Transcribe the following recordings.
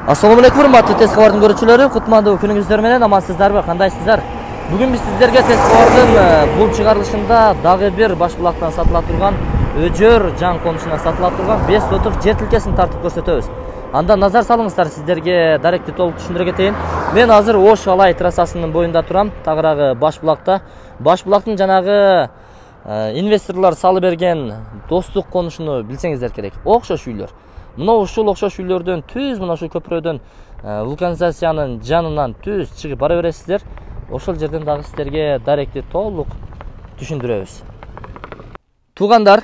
Assalamu alaikum, урматтуу тез кабардын көрүүчүлөрү. Кутмандуу күнүңүздөр менен амансыздарбы? Кандайсыздар? Бүгүн биз сиздерге тез кабардын бул чыгарылышында дагы бир баш булактан сатыла турган Өжөр жаң конушуна сатыла турган 5 сотук жер тилкесин тартып көрсөтөбүз. Анда назар салыңыздар, сиздерге даректи толук түшүндүрө кетейин. Мен азыр Ош Алай трассасынын боюнда турам, тагыраагы баш булакта. Баш булактын жанагы инвесторлор салып берген достук конушуну билсеңиздер керек. Окшош үйлөр. Мына ушул окшош үйлөрдөн түз мына ушул көпүрөдөн вулканизациянын жанынан түз чыгып бара бересиздер. Ошол жерден дагы сиздерге даректи толук түшүндүрөбүз. Туугандар,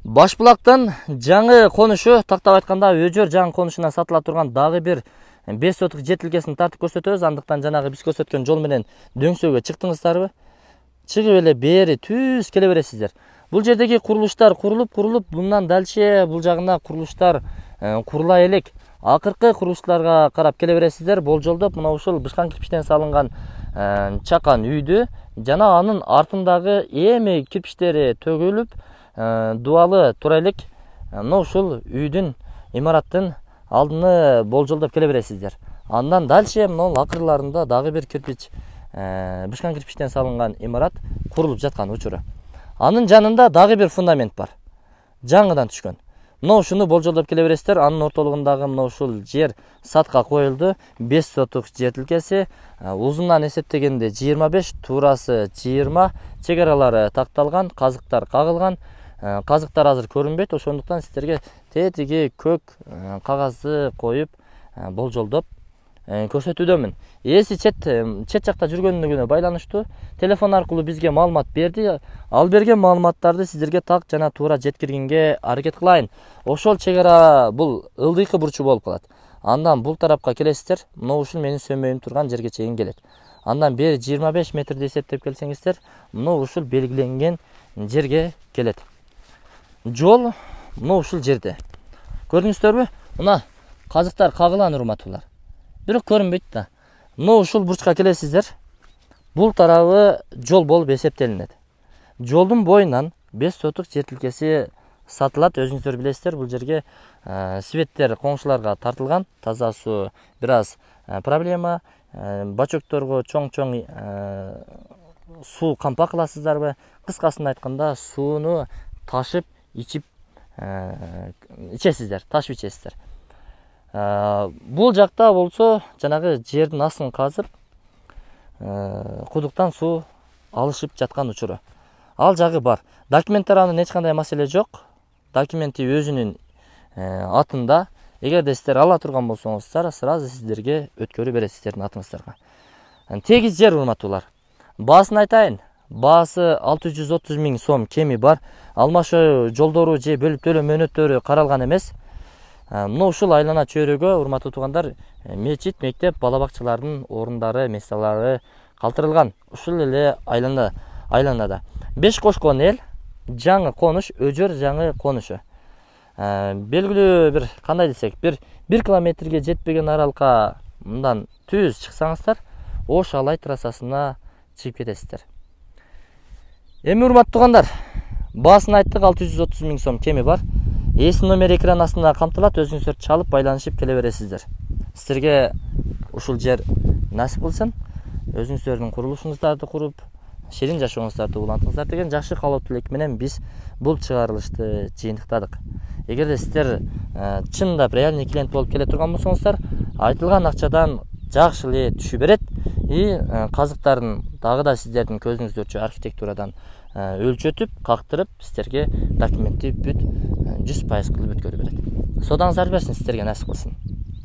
баш булактын жаңы конушу, тактап айтканда Өжөр жаңы конушуна сатыла турган дагы бир 5 сотук жер тилкесин тартып көрсөтөбүз. Андыктан жанагы биз көрсөткөн жол менен дөңсөөгө чыктыңыздарбы? Чыгып эле бери түз келе бересиздер. Бул жердеги курулуштар курулуп, мындан дальше бул жагына курулуштар курула элек. Акыркы курулуштарга карап келе бересиздер. Болжолдоп мына ушул бышкан кирпичтен салынган чакан үйдү жана анын артындагы эми кирпичтери төгүлүп, дубалы тура элек мына ушул үйдүн, имараттын алдыны болжолдоп келе бересиздер. Андан дальше мына акырларында дагы бир кирпич, бышкан кирпичтен салынган имарат курулуп жаткан учуру. Анын жанында дагы бир фундамент бар. Жаңыдан түшкөн. Мына ушуну болжолдоп келе бересиздер. Анын ортолугундагы мына ушул жер сатка коюлду. 5 сотук жер тилкеси, узундан эсептегенде 25, туурасы 20, чегаралары такталган, казыктар кагылган. Казыктар азыр көрүнбөйт, ошондуктан сиздерге тетиги көк кагазды коюп болжолдоп көрсөтүүдөмүн. Эси чет жакта жүргөнүнө байланыштуу телефон аркылуу бизге маалымат берди. Ал берген маалыматтарды сиздерге так жана туура жеткиргенге аракет кылайын. Ошол чегара бул ылдыйкы бурчу болуп калат. Андан бул тарапка келесиздер, мына ушул менин сөмөйүм турган жерге чейин келет. Андан бери 25 метрди эсептеп келсеңиздер, мына ушул белгиленген жерге келет. Жол мына ушул жерде. Көрдүңүздөрбү? Мына казыктар кагылган, урматтуулар. Бирок көрүнбөйт да. Мына ушул бурчка келесиздер. Бул тарабы жол болуп эсептелинет. Жолдун боюнан 5 сотук жер тилкеси сатылат. Өзүңүздөр билесиздер, бул жерге светтер коңшуларга тартылган. Таза суу бир аз проблема. Бачокторго чоң-чоң суу кампа кыласыздарбы? Кыскасын айтканда, сууну ташып ичесиздер, ташып ичесиздер. Бул жакта болсо жанагы жердин астын казып, кудуктан суу алышып жаткан учуру. Ал жагы бар. Документтер анын эч кандай маселе жок. Документи өзүнүн атында. Эгерде сиздер ала турган болсоңуздар, сразу сиздерге өткөрүп берет сиздердин атыңыздарга. Тегиз жер, урматтуулар. Баасын айтайын. Баасы 630 000 сом кеми бар. Алмашуу жолдору же бөлүп төлөө мөөнөттөрү каралган эмес. Мына ушул айлана чөйрөгө, урматтуу туугандар, мечит, мектеп, бала бакчалардын орундары, месалары калтырылган. Ушул эле айланада 5 кошкон эл жаңы конуш, Өжөр жаңы конушу. Белгилүү бир кандай десек, бир 1 километрге жетпеген аралыкка мындан түз чыксаңыздар, Ош Алай трассасына чыгып кетесиздер. Эми, урматтуу туугандар, баасын айттык, 630 000 сом кеми бар. Эси номер экран астында камтылат, өзүңүздөр чалып байланышып келе бересиздер. Сиздерге ушул жер насип кылсын, өзүңүздөрдүн курулушуңуздарды куруп, ширин жашооңуздарды улантыңыздар деген жакшы каалоо тилек менен биз бул чыгарылышты жыйынтыктадык. Эгерде сиздер чындап реальный клиент болуп келе турган болсоңуздар, айтылган акчадан жакшы эле түшүп берет. Казыктарын дагы да сиздердин көзүңүздөрчө архитектурадан өлчөтүп, кактырып, сиздерге документти бүт 100% кылып өткөрүп берет. Содаңыздар берсин, сиздерге насип кылсын.